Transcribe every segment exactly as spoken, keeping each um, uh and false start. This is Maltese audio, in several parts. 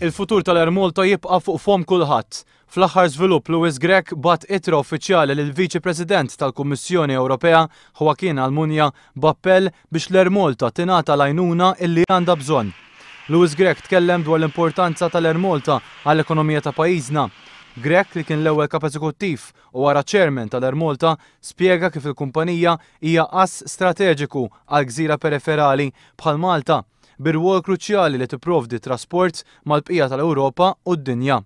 Il-futur tal-Air Malta jibqa' fuq fomm kulħadd. Fl-aħħar żvilupp, Louis Grech bagħat ittra uffiċjali lil Viċi President tal-Kummissjoni Ewropea Joaquin Almunia b'appell biex l-Air Malta tingħata l-għajnuna illi għandha bżonn. Louis Grech tkellem dwar l-importanza tal-Air Malta għall-ekonomija ta' pajjiżna. Grech, li kien l-ewwel kap eżekuttiv u wara chairman tal-Air Malta, spjega kif il-kumpanija hija ass strateġiku għal gżira periferali bħal Malta, bir-rwol kruċjali li tipprovdi trasport mal-bqija tal-Ewropa u d-dinja.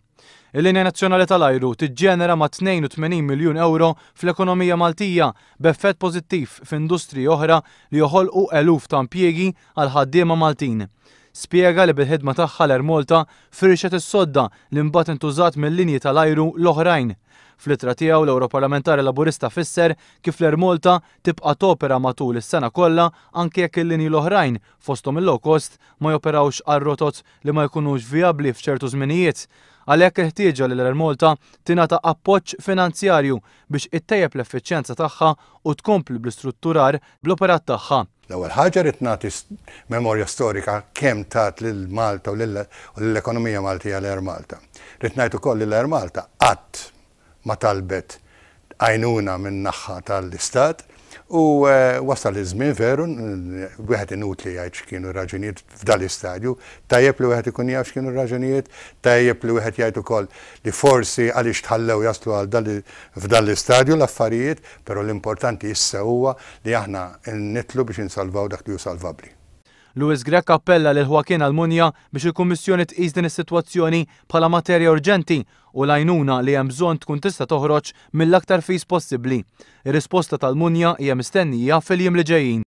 Il-linja nazzjonali tal-ajru tiġġenera ma' tnejn u tmenin miljun euro fl-ekonomija Maltija, b'effett pożittiv f'industriji oħra li joħolqu eluf ta' impjiegi għal ħaddiema Maltin. Spjega li bil-ħidma tagħha l-Air Malta firxet is-sodda li mbagħad intużat mill-linji tal-ajru l-oħrajn. Fl-ittra tiegħu, l-Europarlamentari Laburista fisser kif l-Air Malta tibqa' topera matul is-sena kollha anke jekk il-linji l-oħrajn, fosthom il-low cost, ma joperawx għal rotot li ma jkunux viabli f'ċertu żminijiet. Għalhekk il-ħtieġa li l-Air Malta tingħata appoġġ finanzjarju biex ittejjeb l-effiċjenza tagħha u tkompli bl-istrutturar bl-operat tagħha. L-ewwel ħaġa, rrid nagħti memorja storika kemm tat lil Malta u lill-ekonomija Maltija l-Air Malta. Rrid ngħid ukoll li l-Air Malta qatt ma talbet għajnuna minn naħa tal-Istat u eh, wasal iż-żmien veru, wieħed inutli jgħid x'kienu raġunijiet f'dal-istadju, tajjeb li wieħed ikun jaf x'kienu raġunijiet, tajjeb li wieħed jgħid ukoll li forsi għaliex tħallew jaslu għal f'dan l-istadju l-affarijiet, però l-importanti issa huwa li aħna nidħlu biex insalvaw dak li hu salvabbli. Louis Grech appella lil Joaquin Almunia biex il-Kummissjoni tqis din is-sitwazzjoni bħala materja urġenti u l-għajnuna li hemm bżonn tkun tista' toħroġ mill-aktar fis possibbli. Ir-risposta tal-Almunia hija mistennija fil-jiem li ġejjin.